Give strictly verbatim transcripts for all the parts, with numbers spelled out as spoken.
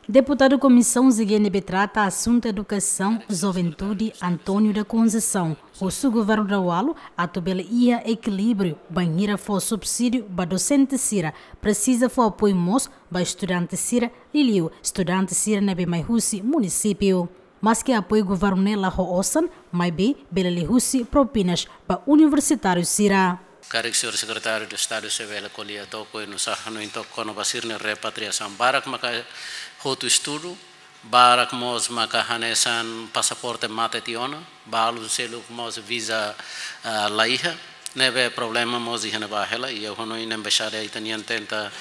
Deputadu Komisaun G N B trata asuntu edukasaun, juventude, António da Conceição, husu governu daudaun atu bele iha ekilíbriu, bainhira fó subsídiu ba dosente sira, presiza fó apoiu mós ba estudante sira, liuliu estudante sira ne'ebé mai husi munisípiu. Maske apoiu governu ne'e la ho osan, maibé bele liuhusi propinas ba universitáriu sira. Karik señór Sekretáriu de Estadu se bele ko'alia took oinsá hanoin took kona-ba sira-nia repatriasaun. Barak maka hotu estudu, barak mós maka hanesan pasaporte mate tiha ona, balu seluk mós viza, ah, la iha, ne'ebé problema mós iha ne'ebá hela, i ha'u hanoin embaixada ita-nian tenta,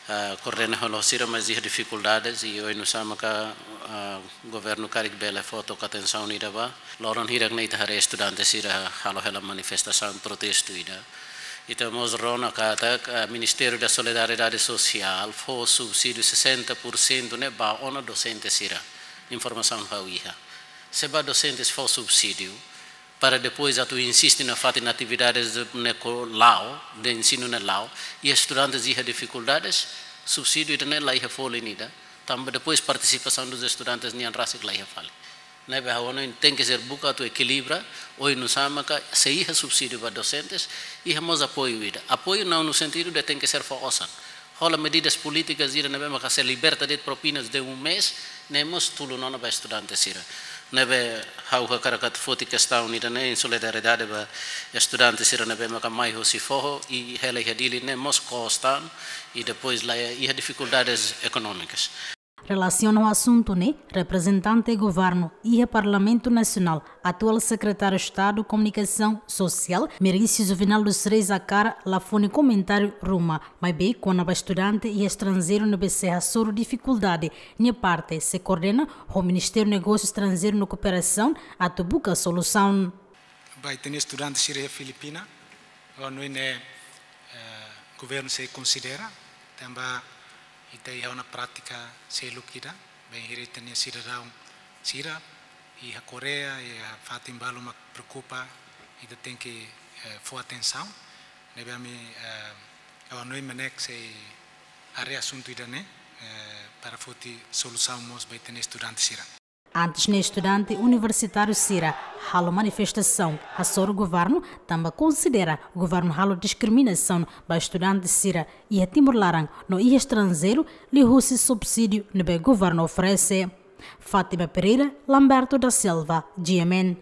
ah, koordena halo sira, mas iha difikuldades, i oinsá maka, ah, governu karik bele fó took atensaun ida ba. Loron hirak ne'e ita haree estudante sira halo hela manifestasaun protestu ida. Ita mós rona katak, ah, Ministériu da Solidariedade Sosiál fó subsídiu sessenta por cento ne'e ba ona dosente sira. Informasaun ha'u iha. Se ba dosentes fó subsídiu, para depois atu insiste nafatin atividades de, ne'e ko la'o, de ensinu ne'e la'o, i estudantes iha difikuldades, subsídiu ida-ne'e la iha folin ida, tanba depois partisipasaun dos estudantes nian rasik la iha fali. Ne'ebé ha'u hanoin tenke ser buka atu ekilibra, oinsá maka se iha subsídiu ba dosentes, iha mós apoiu ida. Apoiu não no sentido de tenke ser fó osan. Hola medidas polítikas ida ne'ebé maka sei liberta de'it propinas de um mês, ne'e mós tulun ona ba estudante sira. Ne'ebé ha'u hakarak atu foti kestaun ida-ne'e em solidariedade ba estudante sira ne'ebé maka mai hosi foho i hela iha Dili ne'e mós kostan i depois la iha difikuldades ekonómikas. Relasiona ho asuntu ne'e, reprezentante governu iha Parlamentu Nasionál, atuál Sekretáriu Estadu Komunikasaun Sosiál, Merício Juvenal dos Reis Acara, la fó nia komentáriu ruma, maibé kona-ba estudante iha estranjeiru ne'ebé sei hasoru difikuldade, nia parte sei koordena ho Ministériu Negósiu Estranjeiru no Kooperasaun atu buka solusaun. Ba ita-nia estudante sira iha Filipina, ha'u hanoin ne'e, eh, governu sei konsidera, tanba ita iha ona prátika seluk ida, bainhira ita-nia sidadaun sira iha Koreia, iha fatin balu mak preokupa, ita tenke, eh, fó atensaun, ne'ebé ami, eh, ha'u hanoin MNEK sei haree asuntu ida-ne'e, eh, para foti solusaun mós ba ita-nia estudante sira. Antes ne'e estudante universitáriu sira halo manifestasaun hasoru governu, tanba konsidera governu halo diskriminasaun ba estudante sira iha Timor laran no iha estranjeiru liuhusi subsídiu ne'ebé governu oferese. Fátima Pereira, Lamberto da Silva, G M N.